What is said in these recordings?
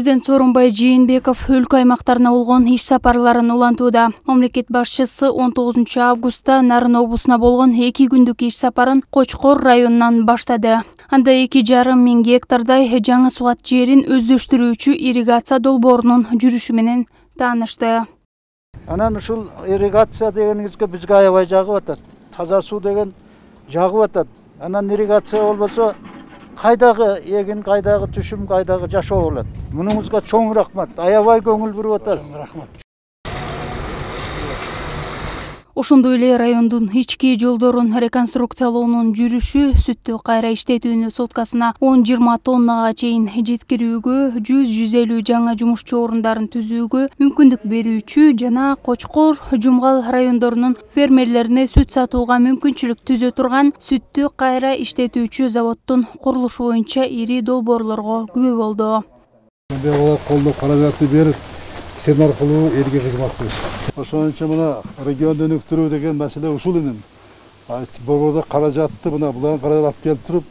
Президент Сооронбай Жээнбеков өлкө аймактарына болгон иш сапарларын улантууда. Мамлекет башчысы 19 августта Нарын облусуна болгон 2 күндүк иш сапарын Кочкор районунан баштады. Анда 2,5 миң гектардай жаңы сугат жерин өздөштүрүүчү ирригация долбоорунун жүрүшү менен таанышты. Анан ушул ирригация дегенибизге бизге аябай жагып атат. Таза суу деген жагып атат. Анан ирригация болбосо кайдагы эгин, кайдагы түшүм, кайдагы жашоо болот. Мунуңузга чоң рахмат. Аябай көңүл буруп атасыз. Рахмат. Ошондой эле райондун ички жолдорун реконструкциялоонун жүрүшү сүттү кайра иштетүүнү суткасына 10-20 тоннага чейин жеткирүүгө, 100-150 жаңа жумушчу орундарын түзүүгө мүмкүндүк берүүчү жана Кочкор, Жумгал райондорунун фермерлерине сүт сатууга мүмкүнчүлүк түзө турган сүттү кайра иштетүүчү заводдун курулушу боюнча ири долбоорлорго күбө болду. Колдоп каражатты берип, сен аркылуу элге кызмат кылыш. Ошон үчүн мына регионду өнүктүрүү деген маселе ушул эми. Борбордо каражатты мына буларга каражат алып келип туруп,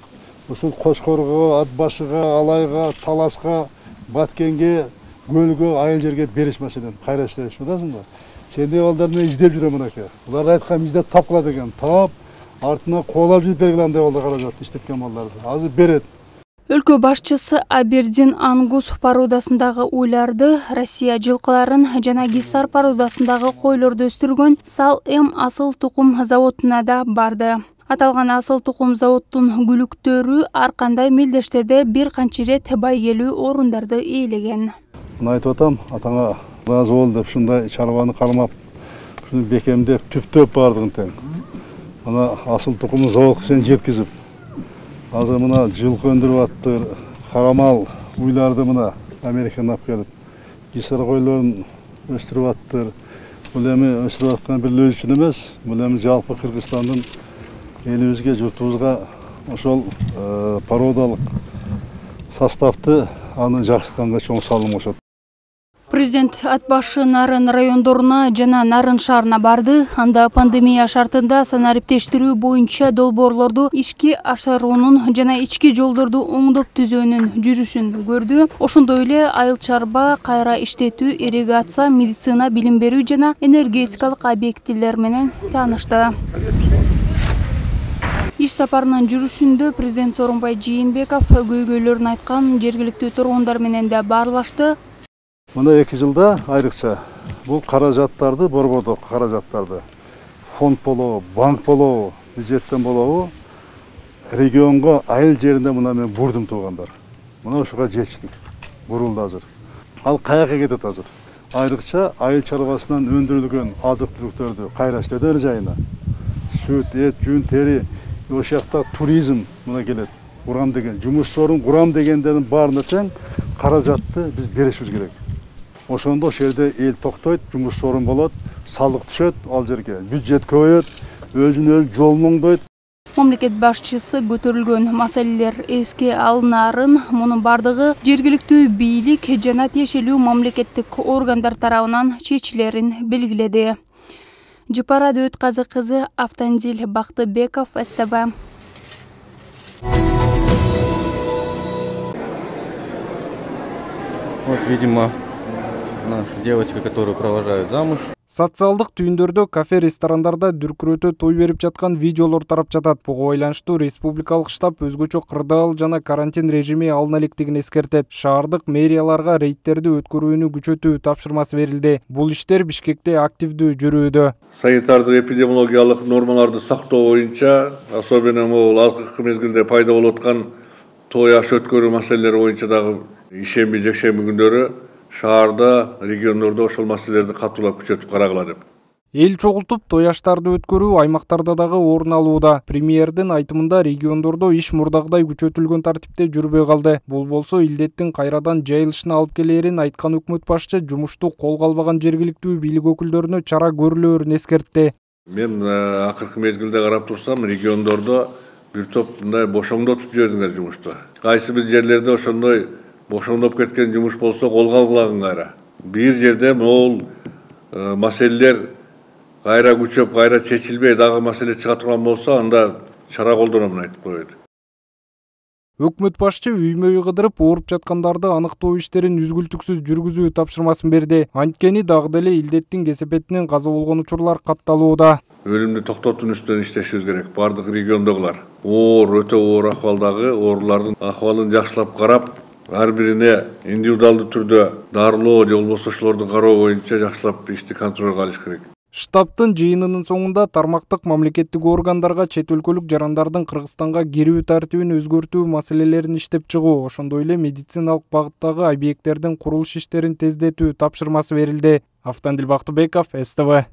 ушул Кочкорго, Ат башыга, Алайга, Таласка, Баткенге, Көлгө, айыл жерге бериш маселен кайра иштеш, билесиңби? Сендей балдар менен издеп жүрөм мынакей. Булар айткан издеп тапкыла деген. Таап, артынан коолап жүрүп бергиле андай балдар каражат иштеткен балдарды. Азыр берет. Өлкө башчысы Абердин Ангус породасындагы уйларды, Россия жылкыларын жана Гиссар породасындагы койлорду өстүргөн Сал-М асыл тукум заводуна да барды. Аталган асыл тукум заводдун күлүктөрү ар кандай мелдештерде бир канча ирет байгелүү орундарды ээлеген. Мына айтып атам, атаңа ыраазы бол деп ушундай чарбаны кармап, ушуну бекемдеп, түптөп бардыгын тең. Мына асыл тукумун заводко сен жеткизип, азыр мына жылкы өндүрүп аттыр, карамал уйларды мына Америкадан алып келип, Гиссар койлорун өстүрүп аттыр. Бул эми өстүрүп аткан бир өз үчүн эмес, бул эми жалпы Кыргызстандын элибизге, журтубузга ошол породалык составты аны жакшыртканга чоң салым кошот. Президент Ат башы Нарын райондоруна жана Нарын шаарына барды. Анда пандемия шартында санариптештирүү боюнча долбоорлорду ишке ашыруунун жана ички жолдорду оңдоп түзөөнүн жүрүшүн көрдү. Ошондой эле айыл чарба, кайра иштетүү, ирригация, медицина, билим берүү жана энергетикалык объектилер менен таанышты. Иш сапарынын жүрүшүндө президент Сооронбай Жээнбеков көйгөйлөрүн айткан, жергиликтүү тургундар менен да баарлашты. Мына 2 жылда айрыкча бул каражаттарды, борбордук каражаттарды, фонд болобу, банк болобу, бюджеттен болобу, регионго, айыл жеринде мына мен бурдум туугандар. Мына ушуга жетиштик. Бурулду азыр. Ал каяка кетет азыр? Айрыкча айыл чарбасынан өндүрүлгөн азык-түлүктөрдү кайра иштетүү жайына. Сүт, эт, жүн, тери, ошол жакта туризм мына келет. Урам деген, жумуш орун курам дегендердин баарына тең каражатты биз беришибиз керек. Ошондо ошол жерде эл токтойт, жумуш орун болот, салык түшөт ал жерге, бюджет көбөйөт, өзүн-өзү жолун оңдойт. Мамлекет башчысы көтөрүлгөн маселелер эске алынаарын, мунун бардыгы жергиликтүү бийлик жана тиешелүү мамлекеттик органдар тарабынан чечилерин белгиледи. Жыпара Дөөтказы кызы, Автандил Бактыбеков, СТВ. Вот, видимо, наша девочка, которую провожают замуж. Социалдык түйүндөрдө, кафе, ресторандарда дүркүрөтө той берип жаткан видеолор тарап жатат. Буга байланыштуу республикалык штаб өзгөчө кырдаал жана карантин режими алына электерин эскертет. Шаардык мэрияларга рейдтерди өткөрүүнү күчөтүү тапшырмасы берилди. Бул иштер Бишкекте активдүү жүрүүдө. Санитардык эпидемиологиялык нормаларды сактоо боюнча, особенно могул акыркы мезгилде пайда болуп аткан той аш өткөрүү маселелери боюнча дагы ишемби, жекшемби күндөрү шаарда, региондордо ошол маселелерди катуулап күчөтүп карагыла деп. Эл чогултуп той аштарды өткөрүү аймактарда дагы орун алууда. Премьердин айтымында региондордо иш мурдагыдай күчөтүлгөн тартипте жүрбөй калды. Бул болсо илдеттин кайрадан жайылышына алып келерин айткан өкмөт башчы жумушту колго албаган жергиликтүү бийлик өкүлдөрүнө чара көрүлөрүн эскертти. Мен акыркы мезгилде карап турсам, региондордо бир топ мындай бошоңдотуп жибердиңер жумушту. Кайсы бир жерлерде ошондой бошоңдоп кеткен жумуш болсо колго алгылагын кайра. Бир жерде могул маселелер кайра күчөп, кайра чечилбей дагы маселе чыга турган болсо, анда чара колдономун айтып коет. Өкмөт башчы үймө-үй кыдырып ооруп жаткандарды аныктоо иштерин үзгүлтүксүз жүргүзүү тапшырмасын берди. Анткени дагы деле илдеттин кесепетинен каза болгон учурлар катталууда. Өлүмдү токтотуунун үстүнөн иштешибиз керек. Бардык региондогулар оор, өтө оор акыбалдагы оорулардын акыбалын жакшылап карап, ар бирине индивидуалдуу түрдө дарылоо же болбосо ошолорду кароо боюнча жакшылап ишти контролго алыш керек. Штабтын жыйынынын соңунда тармактык мамлекеттик органдарга чет өлкөлүк жарандардын Кыргызстанга кирүү тартибин өзгөртүү маселелерин иштеп чыгуу, ошондой эле медициналык багыттагы объекттердин курулуш иштерин тездетүү тапшырмасы берилди. Автандил Бактыбеков, СТВ.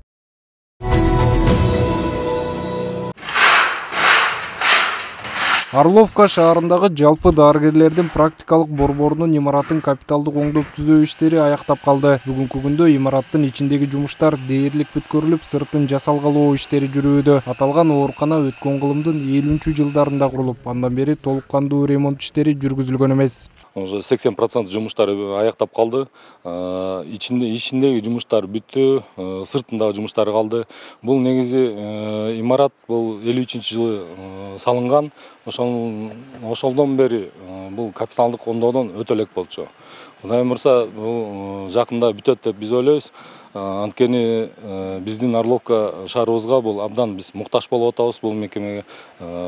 Орловка шаарындагы жалпы дарыгерлердин практикалык борборунун имаратын капиталдык оңдоп түзөө иштери аяктап калды. Бүгүнкү күндө имараттын ичиндеги жумуштар дээрлик бүткөрүлүп, сыртын жасалгалоо иштери жүрүүдө. Аталган оорукана өткөн кылымдын 50-жылдарында курулуп, андан бери толук кандуу ремонт иштери жүргүзүлгөн эмес. Уже 80% жумуштар аяктап калды. Ичиндеги жумуштар бүттү, сыртындагы жумуштар калды. Бул негизи имарат бул 53-жылы салынган. Ошолдон бери бул капиталдык оңдоодон өтө элек болчу. Кудай мырза бул жакында бүтөт деп биз ойлойбуз. Анткени биздин Орловка шаарыбызга бул абдан биз муктаж болуп атабыз. Бул мекемеге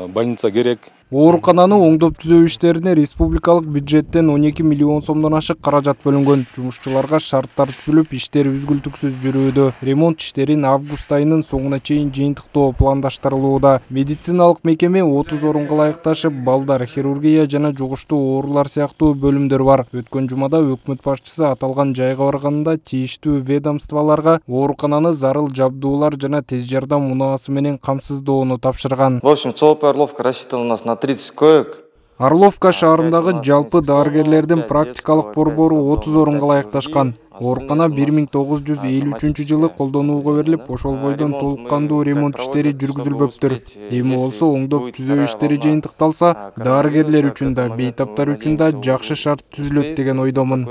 больница керек. Оорукананы оңдоп түзөө иштерине республикалык бюджеттен 12 миллион сомдон ашык каражат бөлүнгөн. Жумушчуларга шарттар түзүлүп, иштер үзгүлтүксүз жүрүүдө. Ремонт иштерин август айынын соңуна чейин жыйынтыктоо пландаштырылууда. Медициналык мекеме 30 орунга ылайыкташып, балдар, хирургия жана жугуштуу оорулар сыяктуу бөлүмдөр бар. Өткөн жумада өкмөт башчысы аталган жайга барганда тийиштүү ведомстволорго оорукананы зарыл жабдуулар жана тез жардам унаасы менен камсыздоону тапшырган. В общем, целая Орловка рассчитана у нас на 30 коек. Орловка шаарындагы жалпы дарыгерлердин практикалык борбору 30 орунга ылайыкташкан. Оорукана 1953-жылы колдонууга берилип, ошол бойдон толук кандуу ремонт иштери жүргүзүлбөптүр. Эми болсо оңдоп түзөө иштери жыйынтыкталса, дарыгерлер үчүн да, бейтаптар үчүн да жакшы шарт түзүлөт деген ойдомун.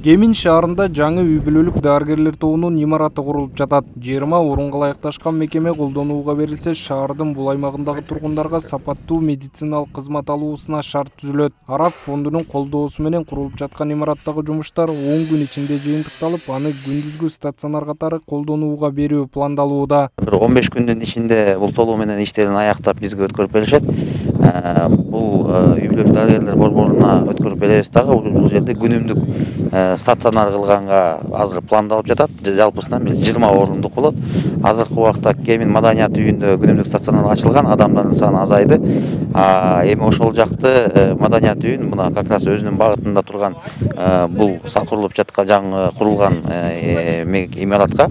Кемин шаарында жаңы үй бүлөлүк дарыгерлер тобунун имараты курулуп жатат. 20 орунга ылайыкташкан мекеме колдонууга берилсе, шаардын бул аймагындагы тургундарга сапаттуу медициналык кызмат алуусуна шарт түзүлөт. Араб фондунун колдоосу менен курулуп жаткан имараттагы жумуштар 10 күн ичинде жыйынтыкталып, аны күндүзгү стационар катары колдонууга берүү пландалууда. 15 күндүн ичинде бул толугу менен иштерин аяктап бизге өткөрүп беришет. Бул үй бүлөлүк дарыгерлер борборуна өткөрүп беребиз дагы. Бул жерде күнүмдүк стационар кылганга азыр пландалып жатат. Жалпысынан 20 орундук болот. Азыркы убакта Кемин маданият үйүндө күнүмдүк стационар ачылган, адамдардын саны азайды. Эми ошол жакты маданият үйүн мына как раз өзүнүн багытында турган бул курулуп жаткан жаңы курулган имаратка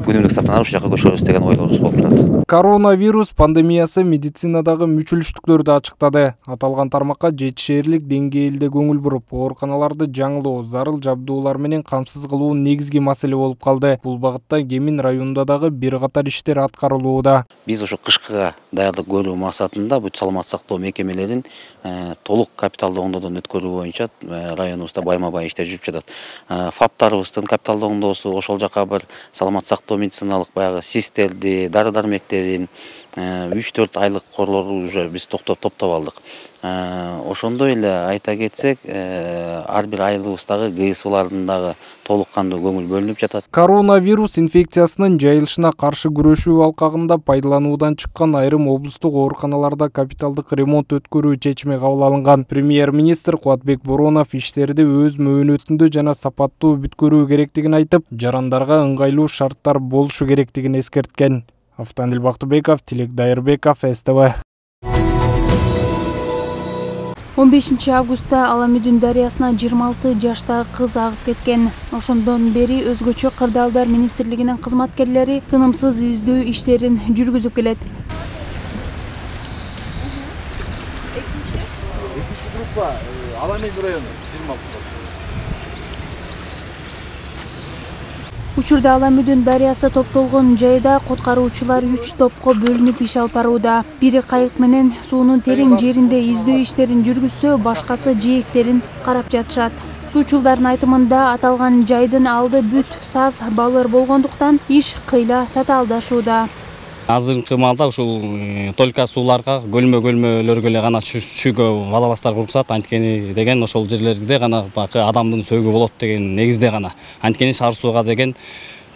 күнүмдүк стационар ушул жака көчүрөбүз деген ойлорубуз болуп турат. Коронавирус пандемиясы медицинадагы мүчүлүштүктөрдү ачыктады. Аталган тармакка жетишээрлик деңгээлде көңүл буруп, ооруканаларды жаңылоо, зарыл жабдуулар менен камсыз кылуу негизги маселе болуп калды. Бул багытта Кемин районунда дагы бир катар иштер аткарылууда. Биз ошо кышкыга даярдык көрүү максатында бүт саламат сактоо мекемелерин толук капиталдык оңдоодон өткөрүү боюнча районубузда байма-бай иштер жүрүп жатат. ФАПтарыбыздын капиталдык оңдоосу ошол жака бір саламат сактоо медициналык баягы СИСтерди, дары-дармектерин 3-4 айлык корлорду уже биз топтоп алдык. Ошондой эле айта кетсек, ар бир айылыбыздагы ГСВлардын дагы толук кандуу көңүл бөлүнүп жатат. Коронавирус инфекциясынын жайылышына каршы күрөшүү алкагында пайдалануудан чыккан айрым облустук ооруканаларда капиталдык ремонт өткөрүү чечими кабыл алынган. Премьер-министр Кубатбек Боронов иштерди өз мөөнөтүндө жана сапаттуу бүткөрүү керектигин айтып, жарандарга ыңгайлуу шарттар болушу керектигин эскерткен. Автандил Бактыбеков, Тилек Дайырбеков, СТВ. 15 августта Аламүдүн дарыясына 26 жаштагы кыз агып кеткен. Ошондон бери өзгөчө кырдаалдар министрлигинин кызматкерлери тынымсыз издөө иштерин жүргүзүп келет. Экинчи группа Аламүдүн району 26. Учурда Аламүдүн дарыясы топтолгон жайда куткаруучулар 3 топко бөлүнүп иш алып барууда. Бири кайык менен суунун терең жеринде издөө иштерин жүргүзсө, башкасы жээктерин карап жатышат. Суучулдардын айтымында аталган жайдын алды бүт саз балыр болгондуктан иш кыйла татаалдашууда. Азыркы маалда ушул только сууларга көлмөлөргө эле гана түшүүгө валабастар уруксат, анткени деген ошол жерлерде гана бакы адамдын сөөгү болот деген негизде гана. Анткени шаар сууга деген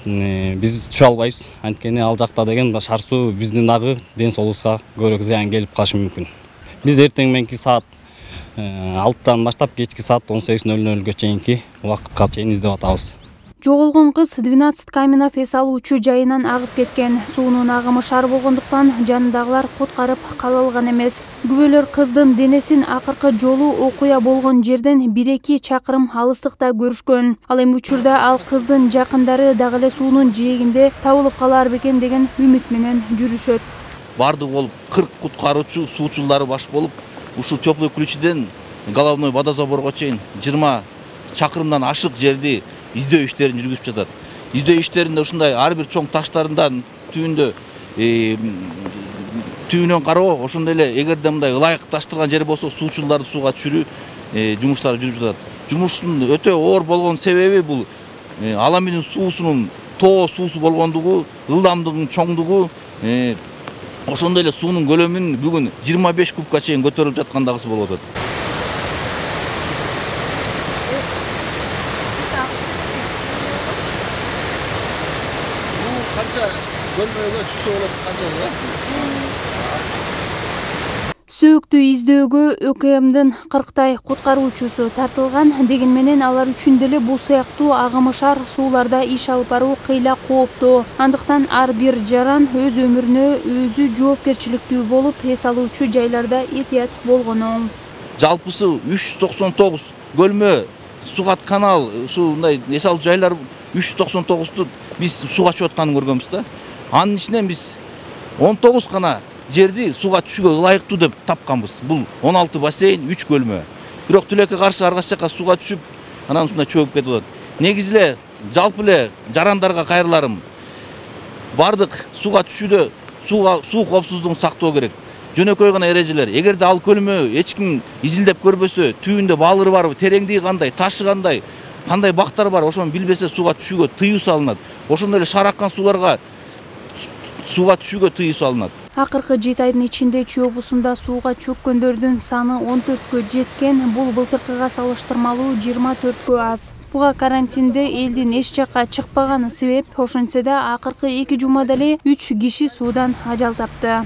биз түшө албайбыз. Анткени ал жакта деген шаар суу биздин дагы ден соолугубузга көбүрөөк зыян келип калышы мүмкүн. Биз эртең мененки саат 6-тан баштап кечки саат 18:00-га чейинки убакытка чейин издеп атабыз. Жоголгон кыз 12 Каменов эс алуучу жайынан агып кеткен. Суунун агымы шаар болгондуктан жанындагылар куткарып кала алган эмес. Күбөлөр кыздын денесин акыркы жолу окуя болгон жерден 1-2 чакырым алыстыкта көрүшкөн. Ал эми учурда ал кыздын жакындары дагы эле суунун жээгинде табылып калар бекен деген үмүт менен жүрүшөт. Бардыгы болуп 40 куткаруучу суучулары баш болуп, ушул теплый ключиден головной водозаборго чейин 20 чакырымдан ашык жерди издөө иштерин жүргүзүп жатат. Издөө иштеринде ушундай ар бир чоң таштардан түйүнөн кароо, ошондой эле эгерде мындай ылайык таштырган жер болсо суучуларды сууга түшүрүү жумуштары жүрүп жатат. Жумуштун өтө оор болгон себеби бул Аламидин суусунун тоо суусу болгондугу, ылдамдыгынын чоңдугу, ошондой эле суунун көлөмүнүн бүгүн 25 кубка чейин көтөрүлүп жаткандагысы болуп атат. Сөөктү издөөгө ÖKMдин 40 куткаруучусу тартылган, деген менен алар үчүн деле бул сыяктуу агымышар сууларда иш алып баруу кыйла кооптуу. Андыктан ар бир жаран өз өмүрүнө өзү жоопкерчиликтүү болуп, эс алуучу жайларда этият болгону оң. Жалпысы 399 көлмө, сугат канал, ушундай эс алуу жайлар 399-ту биз сууга чыгып атканын көргөнбүз да. Анын ичинен биз 19 гана жерди сууга түшүүгө ылайыктуу деп тапканбыз. Бул 16 бассейн, 3 көлмө. Бирок тилекке каршы ар кайсы жака сууга түшүп, анан ушундай чөгүп кетип атат. Негизи эле жалпы эле жарандарга кайрыларым. Бардык сууга түшүүдө суу коопсуздугун сактоо керек. Жөнөкөй гана эрежелер. Эгерде ал көлмө эч ким изилдеп көрбөсө, түбүндө балыры барбы, тереңдиги кандай, ташы кандай, кандай бактар бар, ошону билбесе сууга түшүүгө тыюу салынат. Ошондой эле шаар аккан сууларга сууга түшүүгө тыюу салынат. Акыркы 7 айдын ичинде Чүй облусунда сууга чөккөндөрдүн саны 14кө жеткен. Бул былтыркыга салыштырмалуу 24кө аз. Буга карантинде элдин эч жакка чыкпаганы себеп. Ошентсе да акыркы 2 жумада эле 3 киши суудан ажал тапты.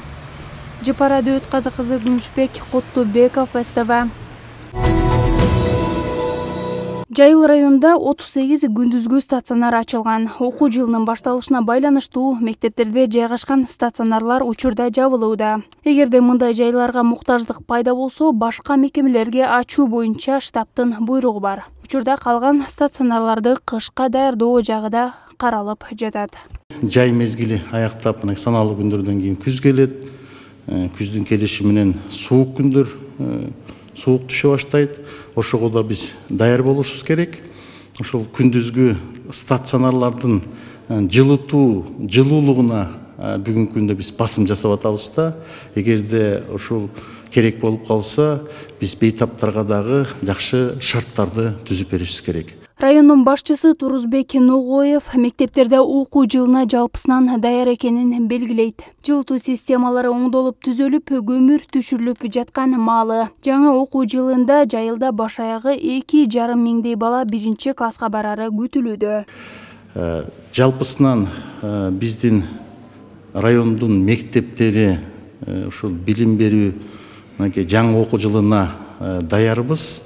Жапара Дөөт Казы кызы Күмүшбек Коттубеков, СТВ. Жайыл районунда 38 күндүзгү стационар ачылган. Окуу жылынын башталышына байланыштуу мектептерде жайгашкан стационарлар учурда жабылууда. Эгерде мындай жайларга муктаждык пайда болсо, башка мекемелерге ачуу боюнча штабтын буйругу бар. Учурда калган стационарларды кышка даярдоо жагы да каралып жатат. Жай мезгили аяктап, саналуу күндөрдөн кийин күз келет. Күздүн келиши менен суук күндөр, суук түшө баштайт. Ошого да биз даяр болушубуз керек. Ошол күндүзгү стационарлардын жылуулугуна бүгүнкү күндө биз басым жасап атабыз да. Эгерде ошол керек болуп калса, биз бейтаптарга дагы жакшы шарттарды түзүп беришибиз керек. Райондун башчысы Турузбек Ногоев мектептерде окуу жылына жалпысынан даяр экенин белгилейт. Жылытуу системалары оңдолуп түзөлүп, көмүр түшүрүлүп жаткан маалы. Жаңы окуу жылында жайылда баш аягы 2,5 миңдей бала 1-класска барары күтүлүүдө. Жалпысынан биздин райондун мектептери ушул билим берүү жаңы окуу жылына даярбыз.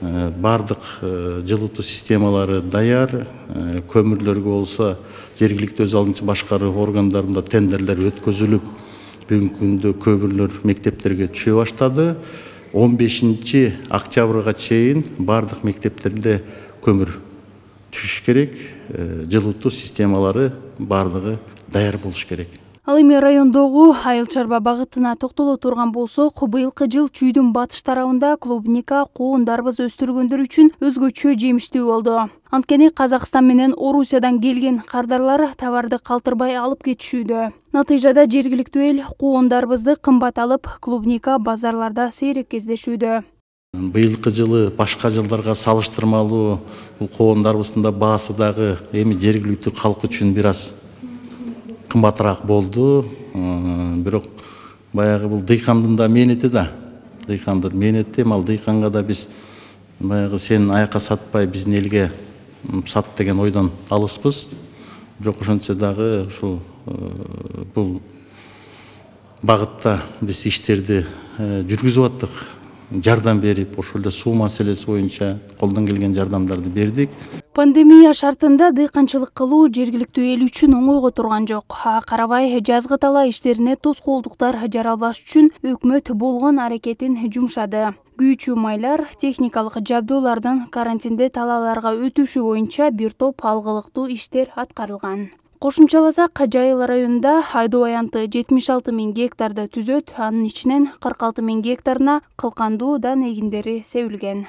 Бардык жылытуу системалары даяр, көмүрлөргө болсо жергиликтүү өз алдынча башкаруу органдарында тендерлер өткөзүлүп, бүгүнкү күндө көмүрлөр мектептерге түшө баштады. 15 октябрга чейин бардык мектептерде көмүр түшүш керек, жылытуу системалары бардыгы даяр болуш керек. Ал эми райондогу айыл чарба багытына токтоло турган болсок, быйылкы жыл Чүйдүн батыш тарабында клубника, коон дарбыз өстүргөндөр үчүн өзгөчө жемиштүү болду. Анткени Казакстан менен Орусиядан келген кардарлар товарды калтырбай алып кетишүүдө. Натыйжада жергиликтүү эл коон дарбызды кымбат алып, клубника базарларда сейрек кездешүүдө. Быйылкы жылы башка жылдарга салыштырмалуу бул коон дарбызында баасы дагы эми жергиликтүү калк үчүн бир аз кымбатыраак болду. бирок баягы бул дыйкандын да мээнети да. Дыйкандын мээнети, ал дыйканга да биз баягы сен аякка сатпай биздин элге сат деген ойдон алыспыз. Бирок ошентсе дагы ушул бул багытта биз иштерди жүргүзүп аттык. Жардам берип, ошол эле суу маселеси боюнча колдон келген жардамдарды бердик. Пандемия шартында дыйканчылык кылуу жергиликтүү эл үчүн оңойго турган жок. Карабай жазгы талаа иштерине тоскоолдуктар жаралбаш үчүн өкмөт болгон аракетин жумшады. Күйүүчү майлар, техникалык жабдуулардын карантинде талааларга өтүшү боюнча бир топ алгылыктуу иштер аткарылган. Кошумчаласак, Жайыл районунда айдоо аянты 76 000 гектарды түзөт, анын ичинен 46 000 гектарына кылкандуу дан эгиндери себилген.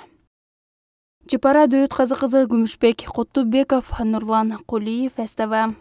Жапара Дөөт Казы кызы, Күмүшбек Коттубеков, Нурлан Кулиев, СТВ.